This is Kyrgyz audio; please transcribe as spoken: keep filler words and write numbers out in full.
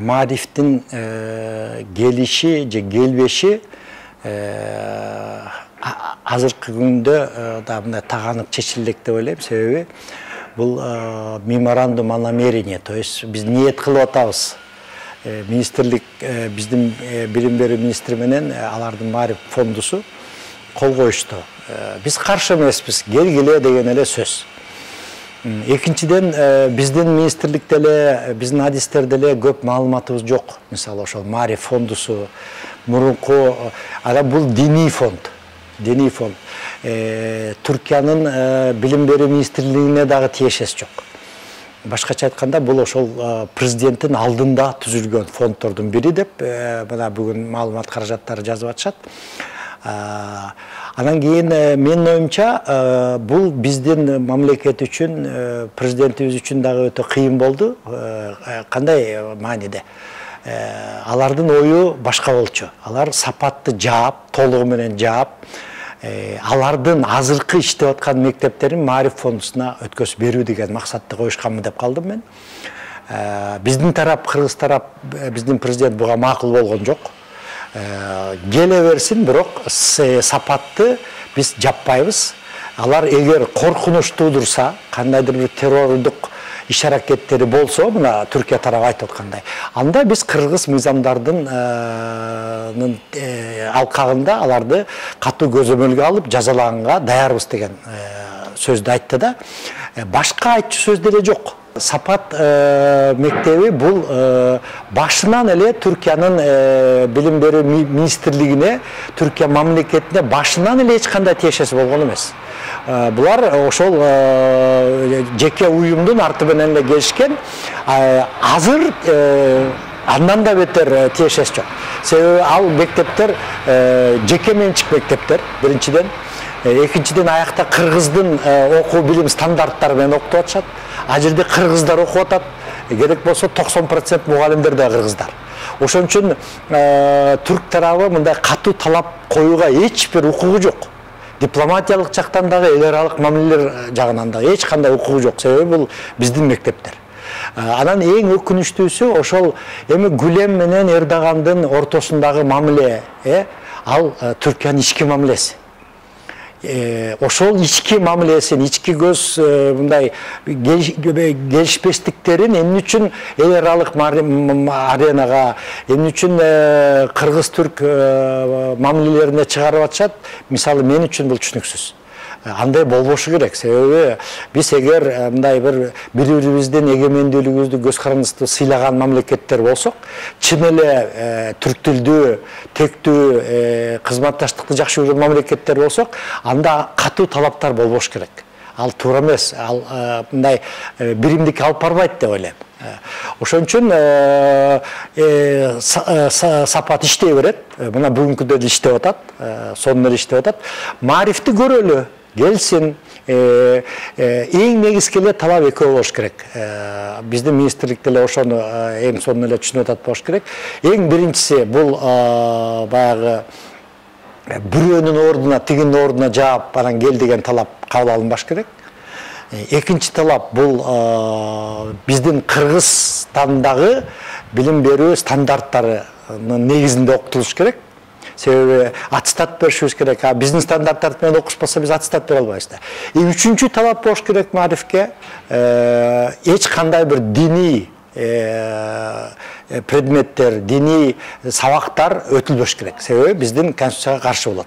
Маарифтин келиши же келбеши азыркы күндө да мындай таганып чечилдик деп ойлойм. Себеби бул меморандум о намерении, то есть биз ниет кылып атабыз. Министрлик, биздин билим берүү министри менен алардын Маариф фондусу кол коюшту. Биз каршы эмеспиз, келгиле деген эле сөз. Экинчиден, биздин министрликте эле, биздин адистерде эле көп маалыматыбыз жок. Мисалы, ошол Маариф фондусу мурунку, ана бул диний фонд. Диний фонд. Түркиянын билим берүү министрлигине дагы тиешеси жок. Башкача айтканда, бул ошол президенттин алдында түзүлгөн фонддордун бири деп, мына бүгүн маалымат каражаттары жазып атышат. Анан кийин менин оюмча бул биздин мамлекет үчүн, президентибиз үчүн дагы өтө кыйын болду. Кандай мааниде? Алардын ою башка болчу. Алар сапатты жаап, толугу менен жаап, алардын азыркы иштеп аткан мектептерин Маариф фондусуна өткөзүп берүү деген максатты коюшканмы деп калдым мен. Биздин тарап, кыргыз тарап, биздин президент буга макул болгон жок. Келе берсин, бирок сапатты биз жаппайбыз. Алар эгер коркунуч туудурса, кандайдыр бир террордук иш-аракеттери болсо, мына Түркия тарабы айтып аткандай, анда биз кыргыз мыйзамдардын алкагында аларды катуу көзөмөлгө алып жазалаганга даярбыз деген сөздү айтты да. Башка айтчу сөз деле жок. Сапат мектеби бул башынан эле Түркиянын билим берүү министрлигине, Түркия мамлекетине башынан эле эч кандай тиешеси болгон эмес. Булар ошол жеке уюмдун арты менен эле келишкен. Азыр андан да бетер тиешеси жок. Себеби ал мектептер жеке менчик мектептер, биринчиден. Экинчиден, аякта кыргыздын окуу билим стандарттары менен окутуп атышат. А жерде кыргыздар окуп атат. Керек болсо токсон процент мугалимдер да кыргыздар. Ошон үчүн түрк тарабы мындай катуу талап коюуга эч бир укугу жок. Дипломатиялык жактан дагы, эл аралык мамилелер жагынан дагы эч кандай укугу жок. Себеби бул биздин мектептер. Анан эң өкүнүчтүүсү ошол эми Гүлем менен Эрдогандын ортосундагы мамиле, ал Түркиянын ички мамилеси. Ошол ички мамилесин, ички көз мындай келишпестиктерин эмне үчүн эл аралык аренага, эмне үчүн кыргыз-түрк мамилелерине чыгарып атышат, мисалы мен үчүн бул түшүнүксүз. Андай болбошу керек. Себеби биз эгер мындай бир бири-бирибиздин эгемендүүлүгүбүздү, көз карандыбызды сыйлаган мамлекеттер болсок, чын эле түрк тилдүү, тектүү, кызматташтыкты жакшы көргөн мамлекеттер болсок, анда катуу талаптар болбош керек. Ал туура эмес, ал мындай биримдикке алып барбайт деп ойлойм. Ошон үчүн сапат иштей берет. Мына бүгүнкүдө деле иштеп атат, сонун эле иштеп атат. Маарифти көрөлү, келсин. Эң негизги эле талап экөө болуш керек. Биздин министрликте эле ошону эң сонун эле түшүнүп атат болуш керек. Эң биринчиси бул баягы бирөөнүн ордуна, тигинин ордуна жаап, анан кел деген талап кабыл алынбаш керек. Экинчи талап бул биздин Кыргызстандагы билим берүү стандарттарынын негизинде окутулуш керек. Себеби аттестат беришибиз керек. А биздин стандарттар менен окушпаса биз аттестат бере албайбыз да. И үчүнчү талап болуш керек Маарифке, эч кандай бир диний предметтер, диний сабактар өтүлбөш керек. Себеби биздин конституцияга каршы болот.